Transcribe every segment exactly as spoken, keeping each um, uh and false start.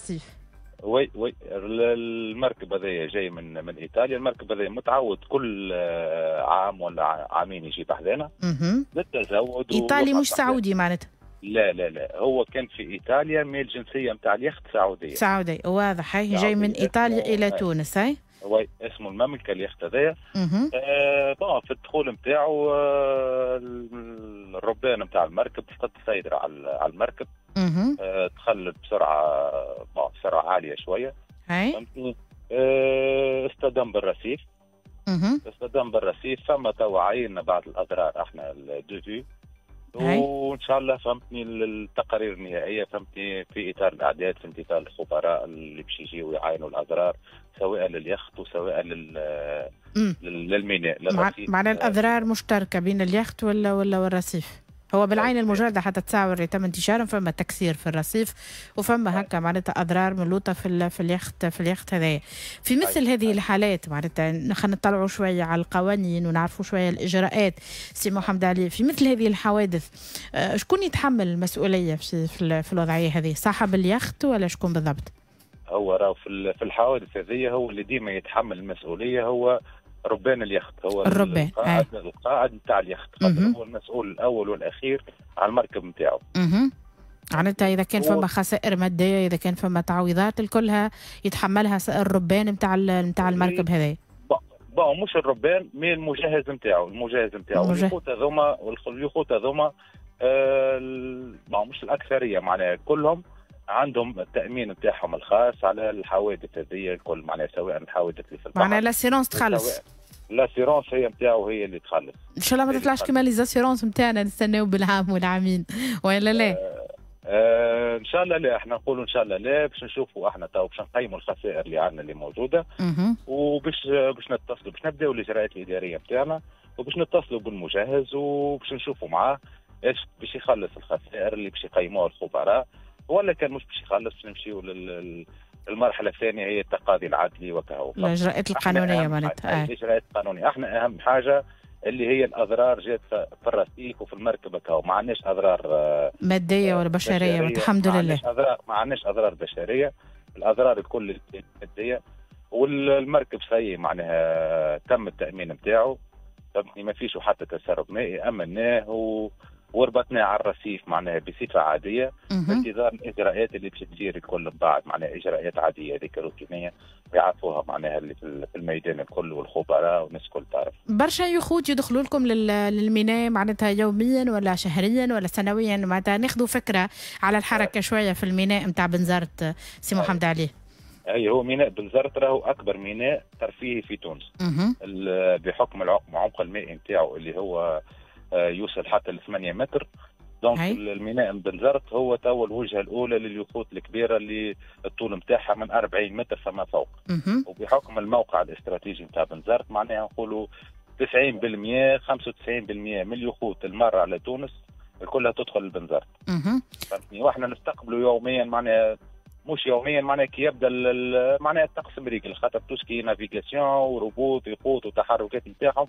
الرصيف. oui oui، المركب هذايا جاي من من ايطاليا. المركب هذايا متعود كل عام ولا عامين يجي بحذانا للتزود. ايطالي مش سعودي معناتها؟ لا لا لا، هو كان في ايطاليا، mais الجنسية نتاع اليخت سعوديه. سعودي واضح، هي جاي من ايطاليا الى تونس. هاي oui، اسمه المملكة اليخت هذايا. آه bon، في الدخول نتاعو آه الربان نتاع المركب فقد السيطرة على المركب. آه دخل بسرعه بسرعة عالية شويه. هاي آه اصطدم بالرصيف. اصطدم بالرصيف، فما توا عينا بعض الاضرار احنا de vue، وان شاء الله فهمتني التقارير النهائية فهمتني في اطار الاعداد، في انتظار الخبراء اللي باش يجيو يعاينوا الاضرار سواء لليخت وسواء لل للميناء. معناها الاضرار مشتركة بين اليخت ولا ولا والرصيف. هو بالعين المجردة حتى تصاور اللي تم انتشارهم فما تكسير في الرصيف وفما هكا معناتها اضرار من لوطه في في اليخت في اليخت هذايا. في مثل هذه الحالات معناتها خلينا نطلعوا شوية على القوانين ونعرفوا شوية الاجراءات. سي محمد علي، في مثل هذه الحوادث شكون يتحمل المسؤولية في في الوضعية هذه؟ صاحب اليخت ولا شكون بالضبط؟ هو راهو في في الحوادث هذه هو اللي ديما يتحمل المسؤولية هو ربان اليخت، هو الربان القائد القائد نتاع اليخت، خاطر هو المسؤول الاول والاخير على المركب نتاعو. معناتها اذا كان فما خسائر مادية، اذا كان فما تعويضات، الكلها يتحملها الربان نتاع نتاع المركب هذا. bon، مش الربان mais المجهز نتاعو، المجهز نتاعو. اليخوت هذوما اليخوت هذوما آه مش الاكثرية معناها كلهم عندهم التامين نتاعهم الخاص على الحوادث هذه الكل، معناها سواء الحوادث اللي في البحر، معناها l'assurance تخلص. l'assurance هي نتاعو هي اللي تخلص. ان شاء الله ما تطلعش كما les assurances نتاعنا نستناو بالعام والعامين ولا لا؟ آه آه ان شاء الله لا، احنا نقولوا ان شاء الله لا، باش نشوفوا احنا تو باش نقيموا الخسائر اللي عندنا اللي موجودة، وباش باش نتصلوا باش نبداو الاجراءات الادارية نتاعنا، وباش نتصلوا بالمجهز وباش نشوفوا معاه ايش باش يخلص الخسائر اللي باش يقيموها الخبراء، ولا كان مش باش يخلص باش نمشيو للمرحلة الثانية هي التقاضي العدلي وكهو. الاجراءات القانونية معناتها. الاجراءات القانونية، احنا اهم حاجة اللي هي الاضرار جات في الرصيف وفي المركبة كهو، ما عندناش اضرار مادية ولا بشرية، الحمد لله. اضرار ما عندناش اضرار بشرية، الاضرار الكل مادية، والمركب سي معناها تم التامين نتاعو، فهمتني، ما فيش حتى تسرب مائي، امناه و وربطناه على الرصيف معناها بصفة عادية انتظار الاجراءات اللي باش تصير الكل من بعد، معناها اجراءات عادية هذيك روتينيه يعرفوها معناها اللي في الميدان الكل والخبراء والناس الكل تعرف. برشا يخوت يدخلوا لكم للميناء معناتها يوميا ولا شهريا ولا سنويا، معناتها ناخذوا فكرة على الحركة شوية في الميناء نتاع بنزرت سي محمد علي. اي هو ميناء بنزرت راهو اكبر ميناء ترفيهي في تونس بحكم العمق المائي نتاعو اللي هو يوصل حتى ل ثمانية متر. donc الميناء بنزرت هو تو الوجهة الاولى لليخوت الكبيرة اللي الطول نتاعها من أربعين متر فما فوق. وبحكم الموقع الاستراتيجي نتاع بنزرت معناها نقولوا تسعين بالمئة خمسة وتسعين بالمئة من اليخوت المارة على تونس كلها تدخل لبنزرت. فهمتني، واحنا نستقبلوا يوميا معناها مش يوميا معناها كي يبدا معناها الطقس مريقل، خاطر tout ce qui est navigation وربوط يخوت وتحركات نتاعهم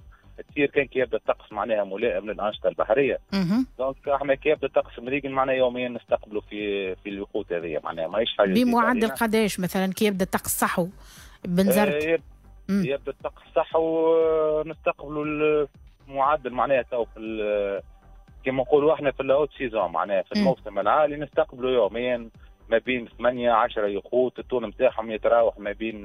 تصير كان كي يبدا الطقس معناها ملائم للانشطه البحرية. donc احنا كي يبدا الطقس مريقل معناها يوميا نستقبلوا في في اليخوت هذه، معناها ماهيش حاجة. بمعدل قداش مثلا كي يبدا الطقس صحو بنزرت؟ آه يبدا الطقس صحو نستقبلوا المعدل معناها تو في كيما نقولوا احنا في ال haute saison معناها في الموسم العالي نستقبلوا يوميا ما بين ثمانية عشرة يخوت، الطول نتاعهم يتراوح ما بين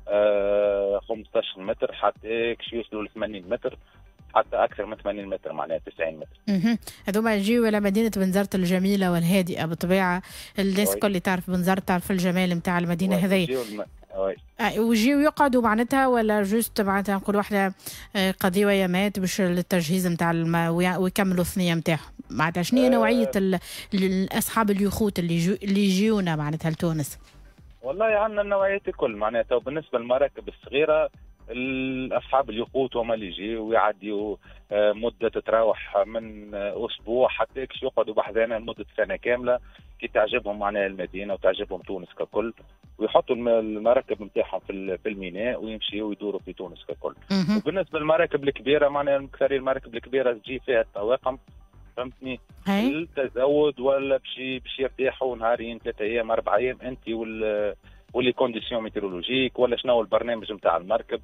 آه خمسطاش متر حتى كش يوصلوا ل ثمانين متر، حتى اكثر من ثمانين متر معناها تسعين متر. اها هذوما يجيو الى مدينة بنزرت الجميلة والهادئه بالطبيعة، الناس الكل اللي تعرف بنزرت تعرف الجمال نتاع المدينة هذيا. ويجيو يقعدوا معناتها ولا juste معناتها نقولوا احنا قضية يامات باش التجهيز نتاع ويكملوا الثنية نتاعهم، معناتها شنو هي نوعية اصحاب اليخوت اللي جو اللي يجيونا معناتها لتونس؟ والله عندنا النوعيات الكل معناتها. تو بالنسبة للمراكب الصغيرة اصحاب اليخوت هما اللي يجيو ويعديوا مده تتراوح من اسبوع حتى يقعدوا بحذانا لمدة سنة كاملة كي تعجبهم معناها المدينة وتعجبهم تونس ككل، ويحطوا المراكب نتاعهم في في الميناء ويمشيوا ويدوروا في تونس ككل. وبالنسبة للمراكب الكبيرة معناها اكثر المراكب الكبيرة تجي فيها الطواقم فهمتني؟ للتزود ولا باش باش يرتاحوا نهارين، ثلاثة ايام، اربع ايام، انت وال و les conditions météorologiques ولا شنو البرنامج نتاع المركب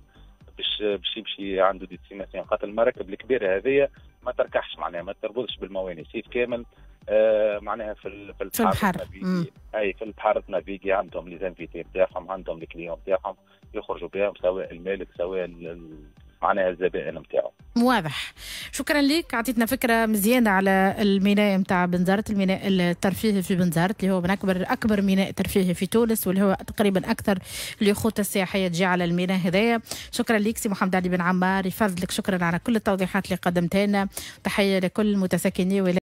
باش باش يمشي عنده destination، خاطر المراكب الكبيرة هذيا ما تركحش، معناها ما تربطش بالمواني صيف كامل، آه معناها في في البحر، في البحر. اي في البحر naviguer، عندهم les invités نتاعهم، عندهم les clients نتاعهم يخرجوا بهم، سواء المالك سواء معناها الزبائن نتاعو. واضح، شكرا لك، اعطيتنا فكرة مزيانه على الميناء نتاع بنزرت، الميناء الترفيهي في بنزرت اللي هو من اكبر اكبر ميناء ترفيهي في تونس، واللي هو تقريبا اكثر اليخوت السياحية تجي على الميناء هذايا. شكرا لك سي محمد علي بن عمار، يفضلك، شكرا على كل التوضيحات اللي قدمتها لنا. تحية لكل متساكني